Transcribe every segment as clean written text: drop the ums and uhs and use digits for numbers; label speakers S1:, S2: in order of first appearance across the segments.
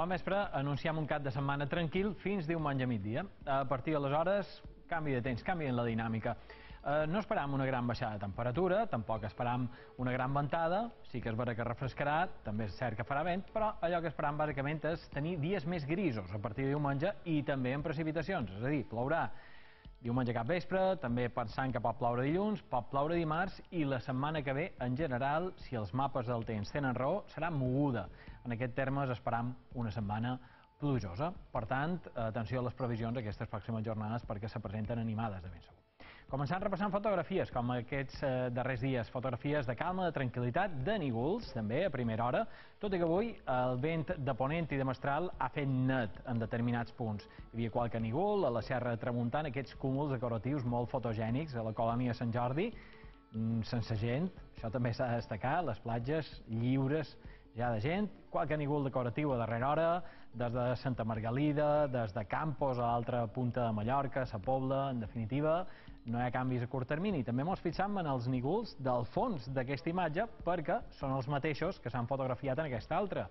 S1: Bon vespre, anunciem un cap de setmana tranquil fins diumenge a migdia. A partir d'aleshores, canvi de temps, canvi en la dinàmica. No esperam una gran baixada de temperatura, tampoc esperam una gran ventada, sí que és vera que refrescarà, també és cert que farà vent, però allò que esperam bàsicament és tenir dies més grisos a partir de diumenge i també amb precipitacions, és a dir, plourà diumenge cap vespre, també pensant que pot ploure dilluns, pot ploure dimarts i la setmana que ve, en general, si els mapes del temps tenen raó, serà moguda. En aquest termes esperam una setmana plujosa. Per tant, atenció a les previsions aquestes pròximes jornades perquè se presenten animades de ben segur. Començant repassant fotografies, com aquests darrers dies, fotografies de calma, de tranquil·litat, de nígols, també a primera hora, tot i que avui el vent de ponent i de mestral ha fet net en determinats punts. Hi havia qualque nígol, a la Serra de Tramuntana, aquests cúmuls decoratius molt fotogènics, a la colònia Sant Jordi, sense gent, això també s'ha de destacar, les platges lliures ja de gent, qualque nígol decoratiu a darrera hora, des de Santa Margalida, des de Campos a l'altra punta de Mallorca, Sa Pobla, en definitiva, no hi ha canvis a curt termini. També ens fixam en els nígols del fons d'aquesta imatge perquè són els mateixos que s'han fotografiat en aquesta altra.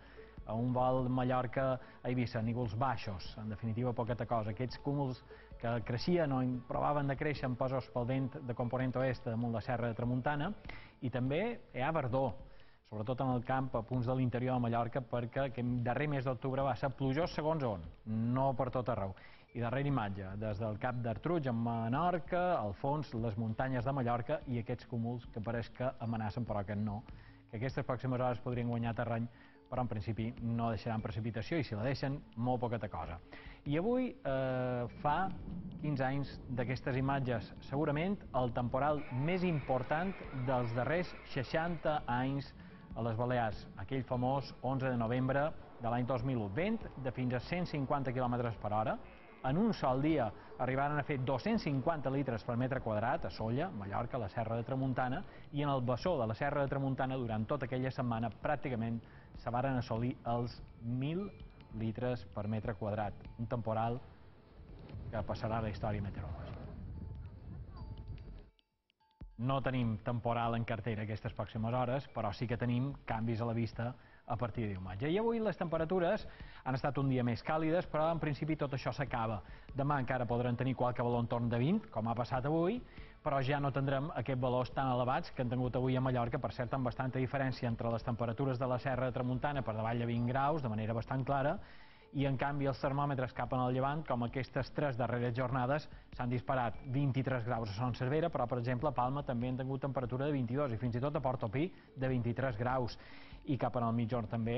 S1: A un vol Mallorca a Eivissa, nígols baixos, en definitiva poqueta cosa. Aquests cúmuls que creixien o provaven de créixer empesos pel vent de component oest damunt la Serra de Tramuntana, i també hi ha verdor, sobretot en el camp a punts de l'interior de Mallorca, perquè aquest darrer mes d'octubre va ser plujós segons on, no per tot arreu. I darrera imatge, des del Cap d'Artruig a Menorca, al fons les muntanyes de Mallorca i aquests cúmuls que pareix que amenacen però que no, que aquestes pròximes hores podrien guanyar terreny, però en principi no deixaran precipitació i si la deixen, molt poqueta cosa. I avui fa 15 anys d'aquestes imatges, segurament el temporal més important dels darrers 60 anys a les Balears, aquell famós 11 de novembre de l'any 2001. Vent de fins a 150 km per hora. En un sol dia arribaren a fer 250 litres per metre quadrat a Sóller, Mallorca, a la Serra de Tramuntana, i en el bessó de la Serra de Tramuntana durant tota aquella setmana pràcticament se varen assolir els 1.000 litres per metre quadrat. Un temporal que passarà a la història meteorològica. No tenim temporal en cartera aquestes pròximes hores, però sí que tenim canvis a la vista a partir de diumenge. I avui les temperatures han estat un dia més càlides, però en principi tot això s'acaba. Demà encara podran tenir qualque valor entorn de 20, com ha passat avui, però ja no tindrem aquests valors tan elevats que han tingut avui a Mallorca, per cert, amb bastanta diferència entre les temperatures de la Serra de Tramuntana per davall de 20 graus, de manera bastant clara, i en canvi els termòmetres cap en el llevant, com aquestes 3 darreres jornades, s'han disparat 23 graus a Son Servera, però per exemple a Palma també han tingut temperatura de 22 i fins i tot a Portopí de 23 graus. I cap en el mitjorn també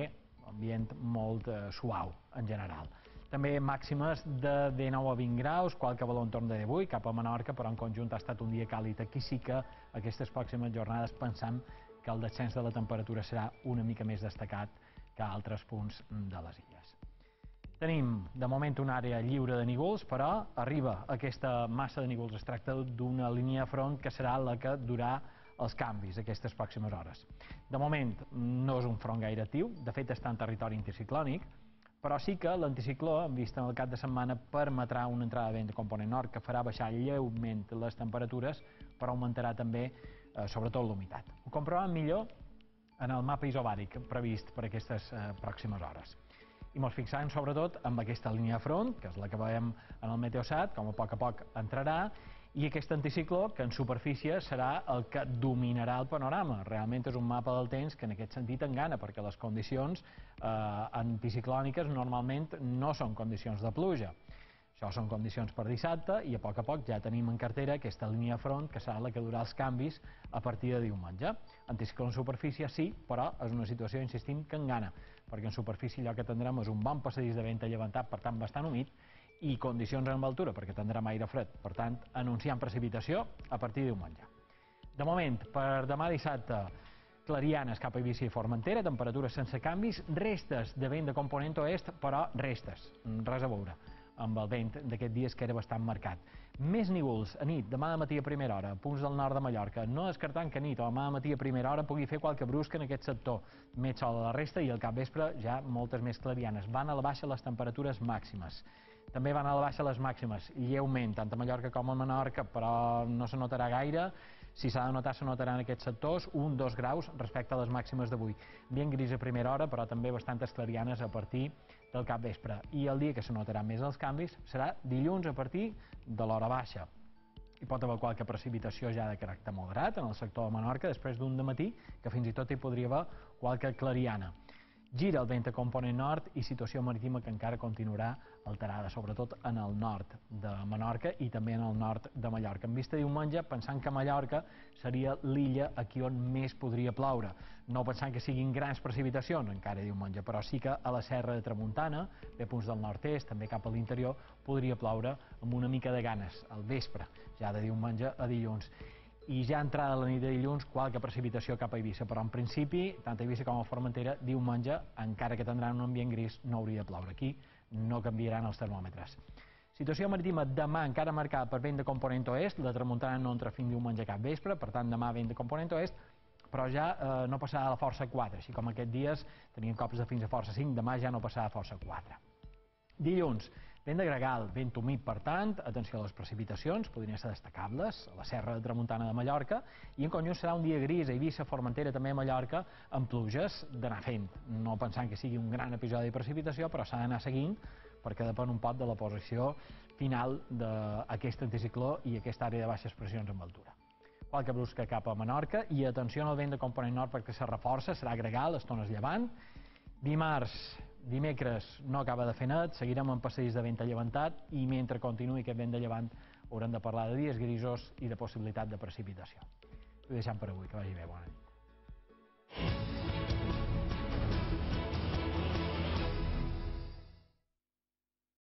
S1: ambient molt suau en general. També màximes de 19 a 20 graus, qualque valor entorn de 18, cap a Menorca, però en conjunt ha estat un dia càlid. Aquí sí que aquestes pròximes jornades pensam que el descens de la temperatura serà una mica més destacat que a altres punts de les illes. Tenim, de moment, una àrea lliure de nígols, però arriba aquesta massa de nígols. Es tracta d'una línia de front que serà la que durà els canvis aquestes pròximes hores. De moment, no és un front gaire actiu, de fet està en territori anticiclònic, però sí que l'anticicló, en vista en el cap de setmana, permetrà una entrada de vent de component nord que farà baixar lleument les temperatures, però augmentarà també, sobretot, l'humitat. Ho comprovem millor en el mapa isobàric previst per aquestes pròximes hores. I ens fixarem sobretot en aquesta línia de front, que és la que veiem en el Meteosat, com a poc entrarà, i aquest anticicló, que en superfície serà el que dominarà el panorama. Realment és un mapa del temps que en aquest sentit engana, perquè les condicions anticiclòniques normalment no són condicions de pluja. Això són condicions per dissabte i a poc ja tenim en cartera aquesta línia de front que serà la que durà els canvis a partir de diumenge. Anticicló en superfície sí, però és una situació, insistim, que engana, perquè en superfície allò que tindrem és un bon passadís de vent allevantat, per tant bastant humit, i condicions en altura, perquè tindrem aire fred. Per tant, anunciant precipitació a partir de diumenge. De moment, per demà dissabte, clarianes cap a Eivissa i Formentera, temperatures sense canvis, restes de vent de component oest, però restes, res a veure amb el vent d'aquest dies que era bastant marcat. Més nígols a nit, demà de matí a primera hora, punts del nord de Mallorca, no descartant que a nit o demà de matí a primera hora pugui fer qualque brusca en aquest sector. Més sol a la resta i al capvespre ja moltes més clarianes. Van a la baixa les temperatures màximes. També van a la baixa les màximes, lleument, tant a Mallorca com a Menorca, però no se notarà gaire. Si s'ha de notar, se notarà en aquests sectors 1-2 graus respecte a les màximes d'avui. Ambient gris a primera hora, però també bastantes clarianes a partir del capvespre. I el dia que se notaran més els canvis serà dilluns a partir de l'hora baixa. Hi pot haver qualque precipitació ja de caràcter moderat en el sector de Menorca, després d'un dematí que fins i tot hi podria haver qualque clariana. Gira el vent a component nord i situació marítima que encara continuarà alterada, sobretot en el nord de Menorca i també en el nord de Mallorca. En vista diumenge, pensant que Mallorca seria l'illa aquí on més podria ploure. No pensant que siguin grans precipitacions encara diumenge, però sí que a la serra de Tramuntana, bé punts del nord-est, també cap a l'interior, podria ploure amb una mica de ganes al vespre, ja de diumenge a dilluns. I ja entrada la nit de dilluns, qualque precipitació cap a Eivissa, però en principi, tant a Eivissa com a Formentera, diumenge, encara que tindran un ambient gris, no hauria de ploure. Aquí no canviaran els termòmetres. Situació marítima demà encara marcada per vent de component oest, la tramuntana no entra fins diumenge cap vespre, per tant demà vent de component oest, però ja no passarà a la força 4, així com aquests dies tenien cops de fins a força 5, demà ja no passarà a força 4. Dilluns, vent de gregal, vent humit, per tant, atenció a les precipitacions, podrien ser destacables, a la serra de Tramuntana de Mallorca, i en conjunt serà un dia gris a Eivissa, Formentera, també a Mallorca, amb pluges d'anar fent, no pensant que sigui un gran episodi de precipitació, però s'ha d'anar seguint, perquè depèn un poc de la posició final d'aquest anticicló i aquesta àrea de baixes pressions amb altura. Qualque brusca cap a Menorca, i atenció al vent de component nord perquè se reforça, serà gregal, estones llevant. Dimecres no acaba de fer net, seguirem amb passadís de vent a llevantat i mentre continuï aquest vent de llevant haurem de parlar de dies grisos i de possibilitat de precipitació. Ho deixem per avui, que vagi bé, bona nit.